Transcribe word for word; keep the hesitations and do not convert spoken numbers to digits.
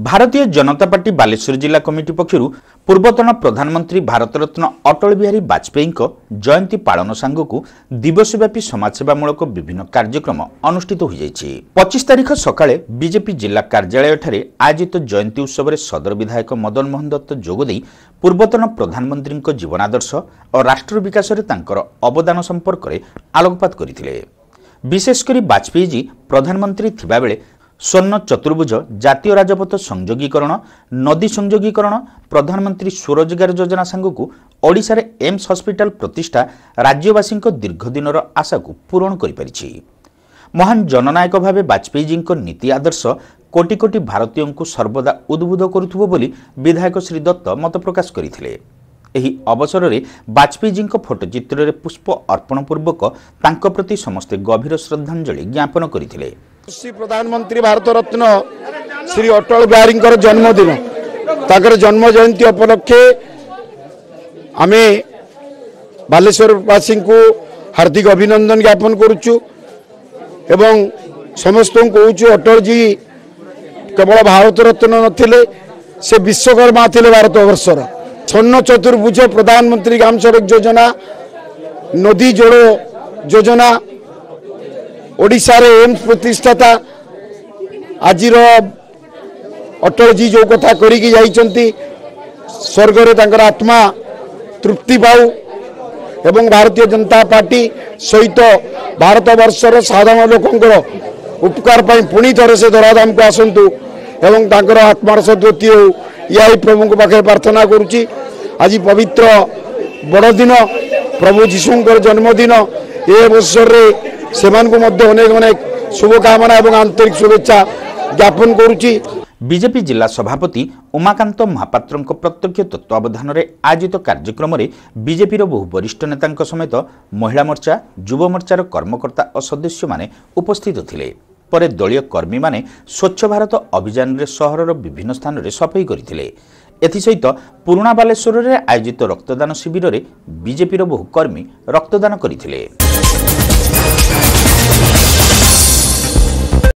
ଭାରତୀୟ ଜନତା ପାର୍ଟି ବାଲେଶ୍ୱର ଜିଲ୍ଲା କମିଟି ପକ୍ଷରୁ ପୂର୍ବତନ ପ୍ରଧାନମନ୍ତ୍ରୀ ଭାରତରତ୍ନ ଅଟଳ ବିହାରୀ ବାଜପେୟୀଙ୍କ ଜୟନ୍ତୀ ପାଳନ ସାଙ୍ଗକୁ ଦିବସବ୍ୟାପୀ ସମାଜସେବାମୂଳକ ବିଭିନ୍ନ କାର୍ଯ୍ୟକ୍ରମ ଅନୁଷ୍ଠିତ ହୋଇଯାଇଛି। ପଚିଶ ତାରିଖ ସକାଳେ ବିଜେପି ଜିଲ୍ଲା କାର୍ଯ୍ୟାଳୟଠାରେ ଆୟୋଜିତ ଜୟନ୍ତୀ ଉତ୍ସବରେ ସଦର ବିଧାୟକ ମଦନ ମୋହନ ଦତ୍ତ ଯୋଗଦେଇ ପୂର୍ବତନ ପ୍ରଧାନମନ୍ତ୍ରୀଙ୍କ ଜୀବନାଦର୍ଶ ଓ ରାଷ୍ଟ୍ର ବିକାଶରେ ତାଙ୍କର ଅବଦାନ ସମ୍ପର୍କରେ ଆଲୋକପାତ କରିଥିଲେ। ବିଶେଷ କରି ବାଜପେୟୀଜୀ ପ୍ରଧାନମନ୍ତ୍ରୀ ଥିବାବେଳେ ସ୍ୱର୍ଣ୍ଣ ଚତୁର୍ଭୁଜ, ଜାତୀୟ ରାଜପଥ ସଂଯୋଗୀକରଣ, ନଦୀ ସଂଯୋଗୀକରଣ, ପ୍ରଧାନମନ୍ତ୍ରୀ ସ୍ୱରୋଜଗାର ଯୋଜନା ସାଙ୍ଗକୁ ଓଡ଼ିଶାରେ ଏମ୍ସ ହସ୍ପିଟାଲ ପ୍ରତିଷ୍ଠା ରାଜ୍ୟବାସୀଙ୍କ ଦୀର୍ଘଦିନର ଆଶାକୁ ପୂରଣ କରିପାରିଛି। ମହାନ ଜନନାୟକ ଭାବେ ବାଜପେୟୀଜୀଙ୍କ ନୀତି ଆଦର୍ଶ କୋଟି କୋଟି ଭାରତୀୟଙ୍କୁ ସର୍ବଦା ଉଦ୍ବୁଦ୍ଧ କରୁଥିବ ବୋଲି ବିଧାୟକ ଶ୍ରୀ ଦତ୍ତ ମତ ପ୍ରକାଶ କରିଥିଲେ। ଏହି ଅବସରରେ ବାଜପେୟୀଜୀଙ୍କ ଫଟୋଚିତ୍ରରେ ପୁଷ୍ପ ଅର୍ପଣ ପୂର୍ବକ ତାଙ୍କ ପ୍ରତି ସମସ୍ତେ ଗଭୀର ଶ୍ରଦ୍ଧାଞ୍ଜଳି ଜ୍ଞାପନ କରିଥିଲେ। ଶ୍ରୀ ପ୍ରଧାନମନ୍ତ୍ରୀ ଭାରତରତ୍ନ ଶ୍ରୀ ଅଟଳ ବିହାରୀଙ୍କର ଜନ୍ମଦିନ, ତାଙ୍କର ଜନ୍ମ ଜୟନ୍ତୀ ଉପଲକ୍ଷେ ଆମେ ବାଲେଶ୍ୱରବାସୀଙ୍କୁ ହାର୍ଦ୍ଦିକ ଅଭିନନ୍ଦନ ଜ୍ଞାପନ କରୁଛୁ ଏବଂ ସମସ୍ତଙ୍କୁ କହୁଛୁ ଅଟଳଜୀ କେବଳ ଭାରତରତ୍ନ ନଥିଲେ, ସେ ବିଶ୍ୱକର୍ମା ଥିଲେ ଭାରତବର୍ଷର। ସ୍ୱର୍ଣ୍ଣ ଚତୁର୍ଭୁଜ, ପ୍ରଧାନମନ୍ତ୍ରୀ ଗ୍ରାମ ସଡ଼କ ଯୋଜନା, ନଦୀ ଯୋଡ଼ ଯୋଜନା, ଓଡ଼ିଶାରେ ଏମ୍ସ ପ୍ରତିଷ୍ଠାତା, ଆଜିର ଅଟଳଜୀ ଯେଉଁ କଥା କରିକି ଯାଇଛନ୍ତି, ସ୍ୱର୍ଗରେ ତାଙ୍କର ଆତ୍ମା ତୃପ୍ତି ପାଉ ଏବଂ ଭାରତୀୟ ଜନତା ପାର୍ଟି ସହିତ ଭାରତବର୍ଷର ସାଧାରଣ ଲୋକଙ୍କର ଉପକାର ପାଇଁ ପୁଣି ଥରେ ସେ ଧରାଧାମକୁ ଆସନ୍ତୁ ଏବଂ ତାଙ୍କର ଆତ୍ମାର ସଦ୍ଗତି ହେଉ, ଏହା ହିଁ ପ୍ରଭୁଙ୍କ ପାଖରେ ପ୍ରାର୍ଥନା କରୁଛି। ଆଜି ପବିତ୍ର ବଡ଼ଦିନ, ପ୍ରଭୁ ଯୀଶୁଙ୍କର ଜନ୍ମଦିନ, ଏ ଅବସରରେ ସେମାନଙ୍କୁ ମଧ୍ୟ ଅନେକ ଅନେକ ଶୁଭକାମନା ଏବଂ ଆନ୍ତରିକ ଶୁଭେଚ୍ଛା ଜ୍ଞାପନ କରୁଛି। ବିଜେପି ଜିଲ୍ଲା ସଭାପତି ଉମାକାନ୍ତ ମହାପାତ୍ରଙ୍କ ପ୍ରତ୍ୟକ୍ଷ ତତ୍ତ୍ୱାବଧାନରେ ଆୟୋଜିତ କାର୍ଯ୍ୟକ୍ରମରେ ବିଜେପିର ବହୁ ବରିଷ୍ଠ ନେତାଙ୍କ ସମେତ ମହିଳା ମୋର୍ଚ୍ଚା, ଯୁବ ମୋର୍ଚ୍ଚାର କର୍ମକର୍ତ୍ତା ଓ ସଦସ୍ୟମାନେ ଉପସ୍ଥିତ ଥିଲେ। ପରେ ଦଳୀୟ କର୍ମୀମାନେ ସ୍ୱଚ୍ଛ ଭାରତ ଅଭିଯାନରେ ସହରର ବିଭିନ୍ନ ସ୍ଥାନରେ ସଫେଇ କରିଥିଲେ। ଏଥିସହିତ ପୁରୁଣା ବାଲେଶ୍ୱରରେ ଆୟୋଜିତ ରକ୍ତଦାନ ଶିବିରରେ ବିଜେପିର ବହୁ କର୍ମୀ ରକ୍ତଦାନ କରିଥିଲେ।